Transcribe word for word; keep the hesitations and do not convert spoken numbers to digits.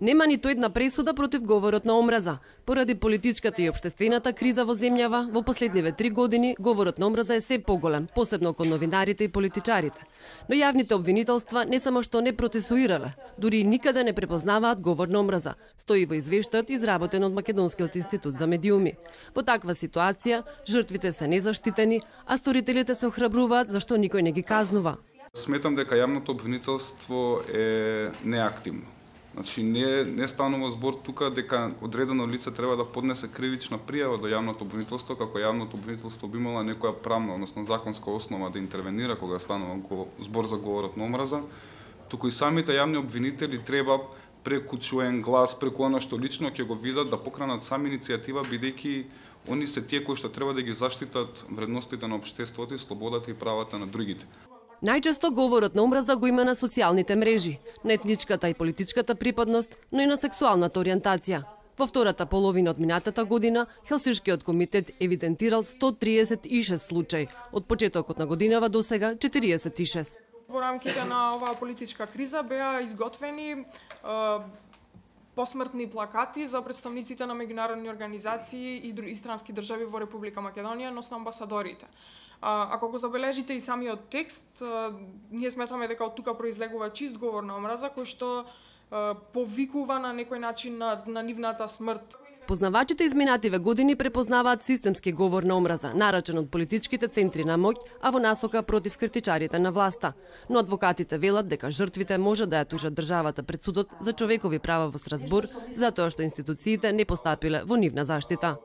Нема ниту една пресуда против говорот на омраза. Поради политичката и општествената криза во земјава, во последниве три години говорот на омраза е се поголем, посебно кон новинарите и политичарите. Но јавните обвинителства не само што не процесуирале, дури и никаде не препознаваат говор на омраза, стои во извештајот изработен од Македонскиот институт за медиуми. Во таква ситуација, жртвите се незаштитени, а сторителите се охрабруваат зашто никој не ги казнува. Сметам дека јавното обвинителство е неактивно. Значи, не, не станува збор тука дека одредено лице треба да поднесе кривична пријава до јавното обвинителство, како јавното обвинителство би имала некоја правна, односно законска основа да интервенира кога станува збор за говорот на омраза, туку и самите јавни обвинители треба преку чуен глас, преку она што лично ќе го видат, да покранат сами иницијатива, бидејќи они се тие кои што треба да ги заштитат вредностите на општеството и слободата и правата на другите. Најчесто говорот на омраза го има на социјалните мрежи, на етничката и политичката припадност, но и на сексуалната ориентација. Во втората половина од минатата година, Хелсиншкиот комитет евидентирал сто триесет и шест случаи, од почетокот на годинава до сега четириесет и шест. Во рамките на оваа политичка криза беа изготвени е, посмртни плакати за представниците на меѓународни организации и, и странски држави во Република Македонија, носно амбасадорите. А, ако го забележите и самиот текст, а, ние сметаме дека од тука произлегува чист говор на омраза, кој што а, повикува на некој начин на, на нивната смрт. Познавачите изминативе години препознаваат системски говор на омраза, нарачен од политичките центри на моќ, а во насока против критичарите на власта. Но адвокатите велат дека жртвите може да ја тужат државата пред судот за човекови права во Страсбур, затоа што институциите не постапиле во нивна заштита.